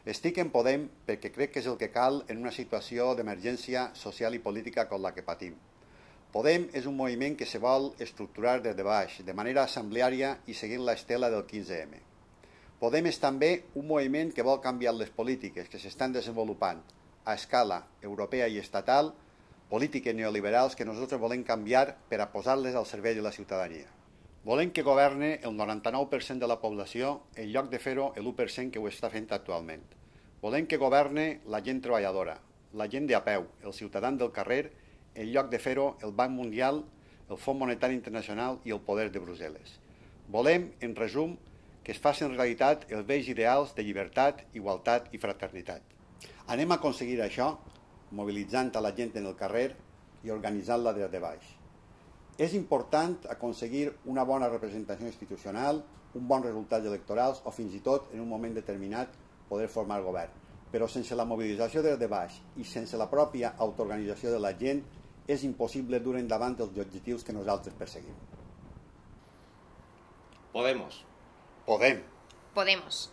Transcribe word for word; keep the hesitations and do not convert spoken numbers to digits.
Estic en Podem perquè crec que és el que cal en una situació d'emergència social i política com la que patim. Podem és un moviment que se vol estructurar des de baix, de manera assembleària i seguint l'estela del quinze eme. Podem és també un moviment que vol canviar les polítiques que s'estan desenvolupant a escala europea i estatal, polítiques neoliberals que nosaltres volem canviar per a posar-les al servei de la ciutadania. Volem que governe el noranta-nou per cent de la població en lloc de fer-ho l'u per cent que ho està fent actualment. Volem que governe la gent treballadora, la gent de a peu, el ciutadà del carrer, en lloc de fer-ho el Banc Mundial, el Fons Monetari Internacional i el poder de Brussel·les. Volem, en resum, que es facin realitat els vells ideals de llibertat, igualtat i fraternitat. Anem a aconseguir això mobilitzant a la gent en el carrer i organitzant-la des de baix. És important aconseguir una bona representació institucional, un bon resultat electorals o fins i tot, en un moment determinat, poder formar govern. Però sense la mobilització des de baix i sense la pròpia autoorganització de la gent és impossible dur endavant els objectius que nosaltres perseguim. Podemos. Podem. Podemos.